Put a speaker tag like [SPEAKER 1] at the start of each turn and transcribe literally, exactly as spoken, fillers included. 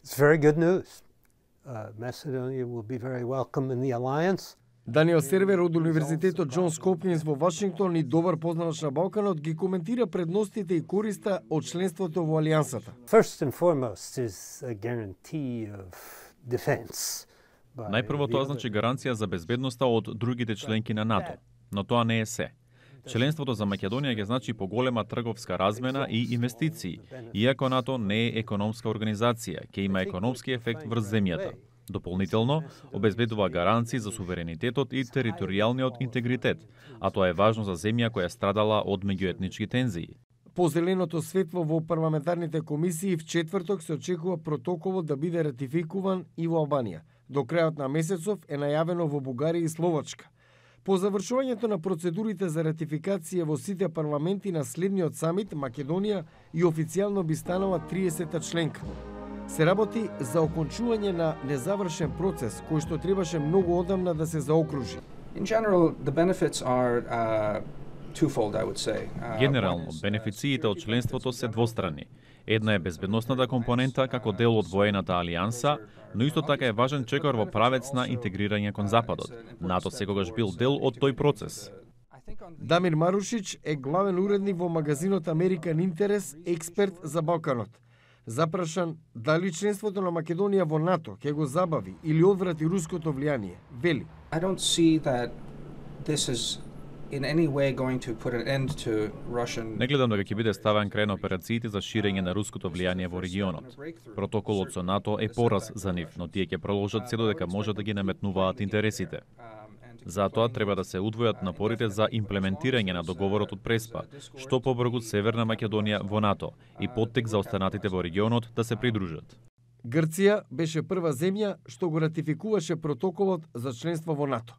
[SPEAKER 1] It's very good news. Uh, Macedonia will be very welcome in the alliance.
[SPEAKER 2] Даниел Сервер од Универзитетот Џонс Хопкинс во Вашингтон и добар познач на Балканот ги коментира предностите и користа од членството во алијансата.
[SPEAKER 1] First and foremost is a guarantee of defense.
[SPEAKER 3] Најпрво тоа значи гаранција за безбедноста од другите членки на НАТО, но тоа не е се. Членството за Македонија ќе значи поголема трговска размена и инвестиции, иако НАТО не е економска организација, ќе има економски ефект врз земјата. Дополнително, обезбедува гаранции за суверенитетот и територијалниот интегритет, а тоа е важно за земја која страдала од меѓуетнички тензии.
[SPEAKER 2] По зеленото светло во парламентарните комисии в четврток се очекува протоколот да биде ратификуван и во Албанија. До крајот на месецов е најавено во Бугарија и Словачка. По завршувањето на процедурите за ратификација во сите парламенти на следниот самит, Македонија и официјално би станала триесета членка. Се работи за окончување на незавршен процес кој што требаше многу одамна да се заокружи.
[SPEAKER 4] In general, the benefits are uh, twofold, I would say. Uh,
[SPEAKER 3] Генерално, бенефициите од членството се двострани. Една е безбедносната компонента како дел од воената алијанса, но исто така е важен чекор во правец на интегрирање кон Западот. НАТО секогаш бил дел од тој процес.
[SPEAKER 2] Дамир Марушич е главен уредник во магазинот Американ Интерес, експерт за Балканот. Запрашан дали членството на Македонија во НАТО ќе го забави или одврати руското влијание, вели:
[SPEAKER 4] I don't see that this is in any way going to put an end to Russian.
[SPEAKER 3] Не гледам дека ќе биде ставен крај на операциите за ширење на руското влијание во регионот. Протоколот со НАТО е пораз за нив, но тие ќе продолжат се додека може да ги наметнуваат интересите. Затоа треба да се удвојат напорите за имплементирање на договорот од Преспа, што побргу Северна Македонија во НАТО и поттик за останатите во регионот да се придружат.
[SPEAKER 2] Грција беше прва земја што го ратификуваше протоколот за членство во НАТО.